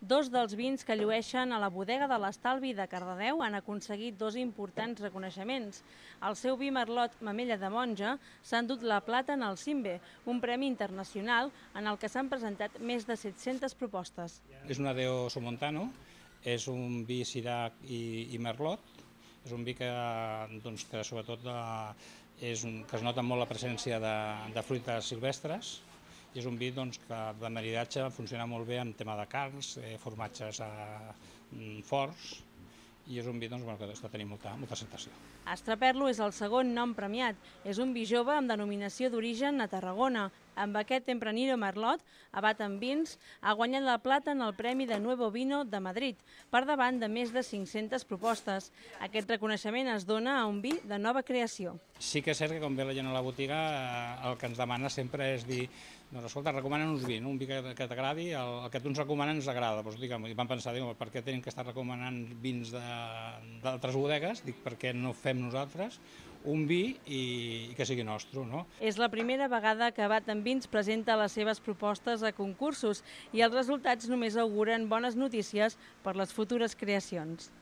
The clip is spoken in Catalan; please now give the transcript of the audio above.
Dos dels vins que llueixen a la bodega de l'Estalvi de Cardedeu han aconseguit dos importants reconeixements. El seu vi Merlot Mamella de Monja s'ha endut la plata en el Cimbe, un premi internacional en el que s'han presentat més de 700 propostes. És un Adeo Somontano, és un vi Syrah i Merlot. És un vi que sobretot que es nota molt la presència de fruites silvestres, i és un vi que de maridatge funciona molt bé en tema de carns, formatges forts, i és un vi que està tenint molta acceptació. Astraperlo és el segon nom premiat. És un vi jove amb denominació d'origen a Tarragona. Amb aquest Tempranillo Merlot, abat en vins, ha guanyat la plata en el Premi de Nuevo Vino de Madrid, per davant de més de 500 propostes. Aquest reconeixement es dona a un vi de nova creació. Sí que és cert que quan ve la gent a la botiga el que ens demana sempre és dir escolta, recomana'ns vi, un vi que t'agradi, el que tu ens recomanes ens agrada. I vam pensar, per què tenim que estar recomanant vins d'altres bodegues? Dic, per què no fem nosaltres un vi i que sigui nostre, no? És la primera vegada que Abat en Vins presenta les seves propostes a concursos i els resultats només auguren bones notícies per les futures creacions.